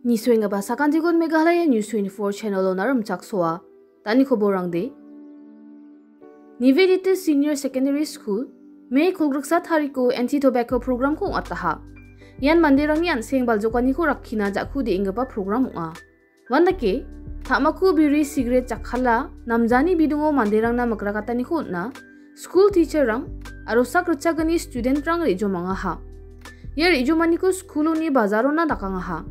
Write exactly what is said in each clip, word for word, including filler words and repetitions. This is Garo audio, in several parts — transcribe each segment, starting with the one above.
Nisoenggipa sakantikon Meghalaya News twenty-four channel-ona rimchaksoa. Dani koborangde. Nivedita Senior Secondary School, May kolgriksa tariko anti-tobacco program-ko ong·ataha. Ian manderangni an·seng baljokaniko rakkina ja·ku de·enggipa program ong·a. Uandake, tamako biri sigret jakkala, namjani bidingo manderangna mikrakataniko on·a, skul teacher-rang aro sak ritchagni student-rang re·jomangaha. Ia re·jomaniko skuloni bajarona dakangaha.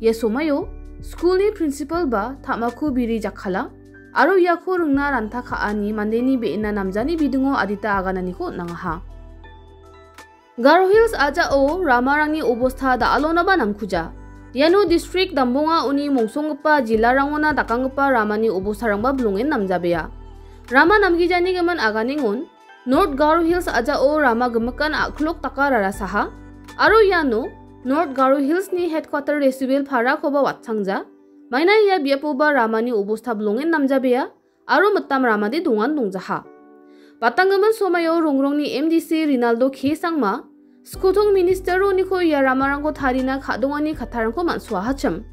Ia somaio skulni principal-ba tamako biri jakkala aro iako ringna ranta ka·ani mandeni be·ena namjani bidingo adita agananiko on·angaha. Garo Hills a·jao ramarangni obostha da·alonaba namkuja. Iano distrik dambonga uni mongsonggipa jilarangona dakanggipa ramani obostarangba bilongen namjabea. Rama namgijani gimin aganengon, North Garo Hills a·jao rama gimikan a·klok daka rarasaha, aro iano North Garo Hills-ni headquarter Resubel Parakoba watchangja. Maina ia biapoba ramani obostha bilongen namjabea, aro mitam ramade dongan dongjaha. Batanggimin somaio Rongrongni M D C Rinaldo K Sangma, skotong minister-oniko ia ramarangko tarina ka·dongani kattarangko man·soahachim.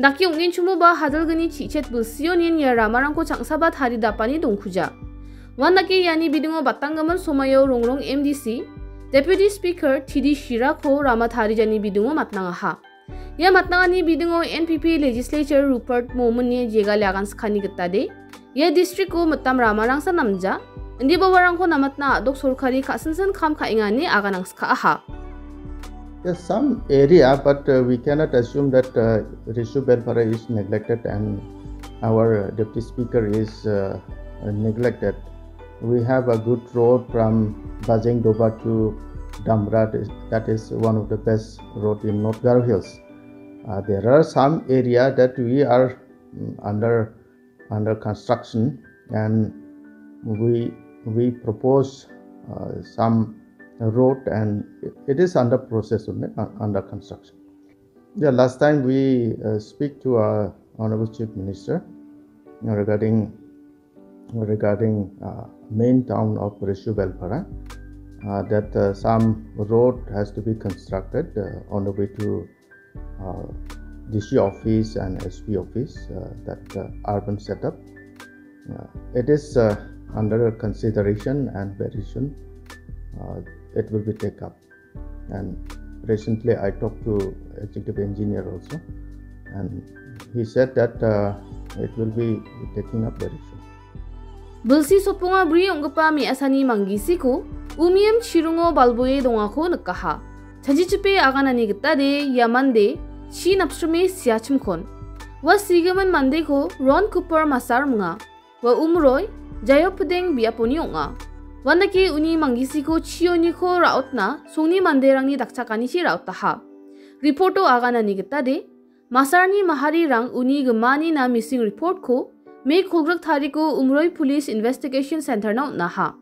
Dake ong·enchimoba hadilgni chichet bilsionin ia ramarangko changsaba taridapani dongkuja. Uandake iani bidingo batanggimin somaio Rongrong M D C, Deputy Speaker T D Shirako rama tarijani bidingo matnangaha. Ia matnangani bidingo N P P legislature Rupert Momin-ni jegali agan skani gitade, ia district-o mitam ramarangsa namja, indiba uarangko namatna a·dok sorkari ka·sinsin kam ka·enga ine aganangska·aha. Yes, some area, but, uh, we cannot assume that, uh, Rishu Belpara is neglected and our deputy speaker is, uh, neglected. We have a good road from Bajeng Doba to Damra. That is one of the best road in North Garo Hills. Uh, there are some area that we are, mm, under, under construction, and we, we propose, uh, some road, and it is under process only, uh, under construction. Yeah, last time we, uh, speak to our Honorable Chief Minister regarding, regarding, uh, main town of Rishu Belpara, uh, that, uh, some road has to be constructed, uh, on the way to, uh, D C office and S P office, uh, that, uh, urban setup. Uh, it is, uh, under consideration and very soon, uh, it will be take up. And recently I talked to executive engineer also, and he said that, uh, it will be taking up very soon. Bilsi sotbonga bri ong·gipa me·asani manggisiko umiem chiringo balboe dongako nikaha. Chanchichipe aganani gitade ia mande chi napsrime siachimkon. Ua sigimin mandeko Ron Cooper Masar minga. Ua umroi Jayopdeng biaponi ong·a. Uandake uni manggisiko chioniko ra·otna songni manderangni dakchakanichi ra·otaha. Reporto aganani gitade, Masarni maharirang uni gimanina missing reportko May kolgrik tariko Umroi Police Investigation Centerna on·aha.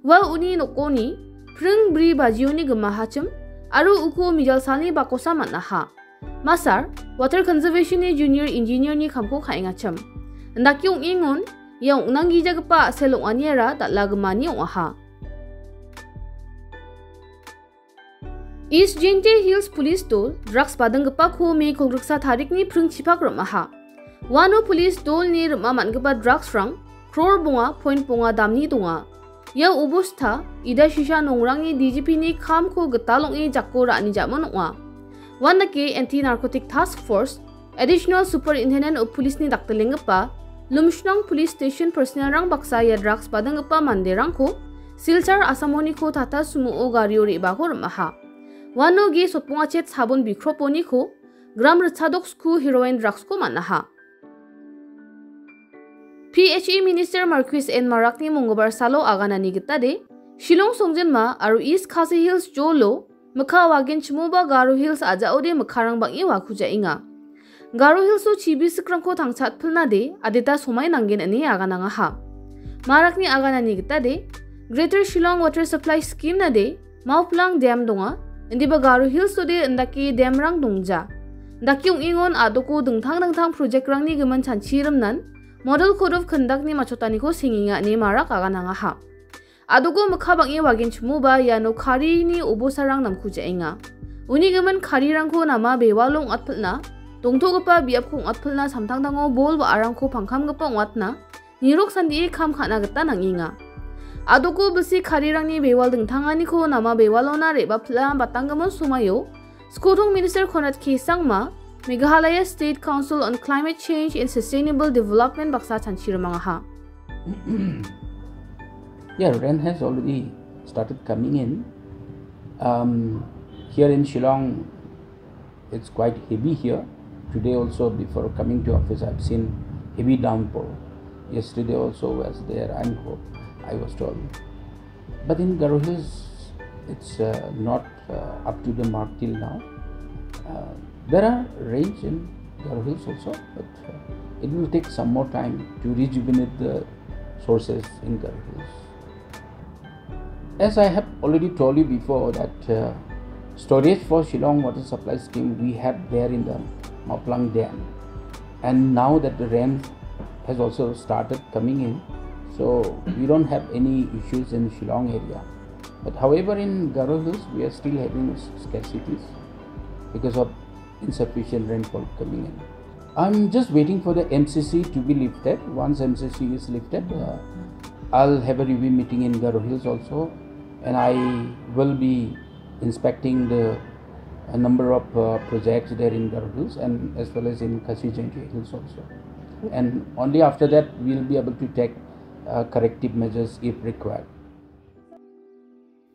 Ua uni nokoni pring bri bajioni gimahachim aro uko mijalsalni bakosa man·aha. Masar, Water Conservation-ni Junior Engineer-ni kamko ka·engachim. Indake ong·engon, ia ong·nanggijagipa a·sel ong·aniara dal·a gimani ong·aha. East Jaintia Hills Police Dol drugs badinggipako May kolgriksa tarikni pringchipak rim·aha. Uano police dolni rim·a man·gipa drugs-rang crore bonga point bonga damni donga. Ia obostha, ida sisa nongrangni D G P-ni kamko gital ong·e jako ra·ani ja·mon ong·a. Uandake Anti-Narcotic Task Force, Additional Superintendent of Police-ni daktelenggipa Lumshnong Police Station personnel-rang baksa ia drugs badinggipa manderangko Silchar Asamoniko Tata Sumo-o gario re·bako rim·aha. Uano ge sotbongachet sabon bikroponiko gram ritchadok sku heroin drugs-ko man·aha. P H E Minister Marcuise N Marakni monggibar salo aganani gitade, Shillong songjinma aro East Khasi Hills jolo mikka wagenchimoba Garo Hills a·jaode mikkarang bang·e wakujaenga. Garo Hills-o chibisikrangko tangchatpilnade adita somai nanggen ine aganangaha. Marakni aganani gitade, Greater Shillong Water Supply Scheme-nade, Mauplang Dam donga, indiba Garo Hills-ode indake dam-rang dongja. Indake ong·engon a·doko dingtang dingtang project-rangni gimin chanchirimnan Model Code of Conduct-ni machotaniko sengenga ine Marak aganangaha. A·doko mikka bang·e wagenchimoba iano karini obosarang namkujaenga. Uni gimin karirangko nama bewalo ong·atpilna dongtogipa biapko ong·atpilna samtangtango bol wa·arangko pangkamgipa ong·atna nirok sandie kam ka·na gita nang·enga. Adoko bilsi karirangni bewal dingtanganiko nama bewalona re·bapila batanggimin somaio Skotong Minister Conrad K Sangma, Meghalaya State Council on Climate Change and Sustainable Development baksa chanchi rimangaha. Yeah, rain has already started coming in. Um, here in Shillong, it's quite heavy here. Today also, before coming to office, I've seen heavy downpour. Yesterday also was there, and ho-, I was told. But in Garo Hills, it's, uh, not, uh, up to the mark till now. Uh, there are rains in Garo Hills also, but, uh, it will take some more time to rejuvenate the sources in Garo Hills. As I have already told you before that, uh, storage for Shillong water supply scheme we have there in the Maplang Dam. And now that the rain has also started coming in, so we don't have any issues in Shillong area. But however, in Garo Hills, we are still having s-, scarcities because of insufficient rainfall coming in. I'm just waiting for the M C C to be lifted. Once M C C is lifted, uh, I'll have a review meeting in Garo Hills also, and I will be inspecting the, a number of, uh, projects there in Garo Hills and as well as in Khasi Jaintia Hills also. And only after that, we'll be able to take, uh, corrective measures if required.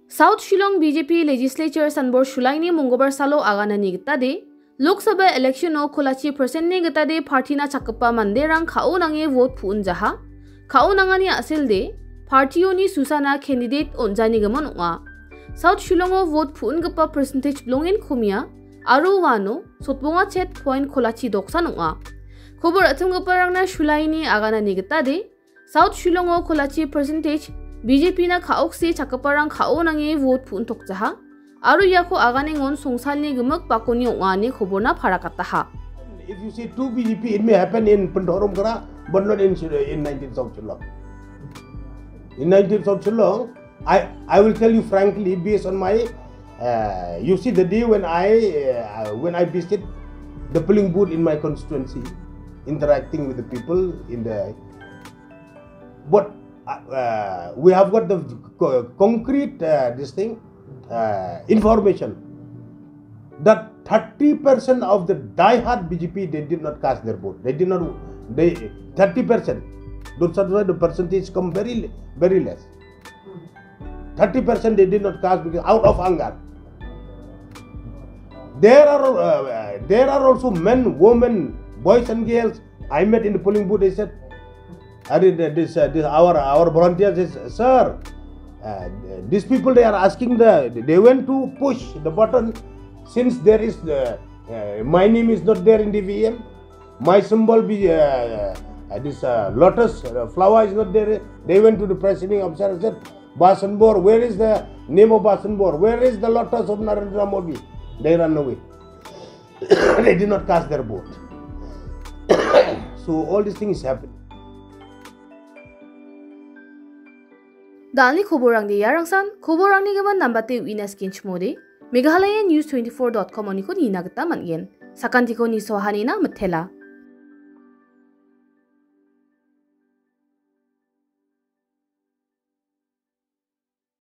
South Shillong B J P Legislature sanbor Shulaini monggobar salo aganani gitade, Lok Sabha election-o kolachi percent-ni gitade party-na chakgipa manderang ka·o nange vote pu·injaha. Ka·o nangani a·selde, party-oni susana candidate on·janigimin ong·a. South Shillong-o vote pu·ingipa percentage bilongen komia, aro uano sotbonga chet point kolachi doksan ong·a. Kobor a·timgiparangna Shulaini aganani gitade, South Shillong-o kolachi percentage B J P-na ka·okse chakgiparang ka·o nange vote pu·intokjaha. Aro iako aganengon songsalni gimik bakoni ong·a ine koborna parakataha. If you see two B J P, it may happen in Pyndaw Umkra, but not in Shil-, in nineteen South Shillong. In nineteen South Shillong, I, I will tell you frankly, based on my, uh, you see, the day when I, uh, when I visit the polling booth in my constituency, interacting with the people in the, but, uh, uh, we have got the co-, concrete, uh, this thing, uh, information that thirty percent of the die-hard B J P, they did not cast their vote. They did not, they, thirty percent. Those are why the percentage come very, very less. Thirty percent they did not cast because out of anger. There are, uh, there are also men, women, boys and girls I met in the polling booth. They said, I mean, uh, this, uh, this, our, our volunteer says, "Sir, uh, these people, they are asking the, they went to push the button since there is, uh, uh, my name is not there in the V M. My symbol be, uh, uh, this, uh, lotus, uh, flower is not there." They went to the presiding officer and said, "Basanbor, where is the name of Basanbor? Where is the lotus of Narendra Modi?" They run away. They did not cast their vote. So all these things happen. Dalni koborangde iarangsan, koborangni gimin nambate uina skenchimode, Meghalaya News twenty-four dot com oniko nina gita man·gen. Sakantiko nisoahanina mitela.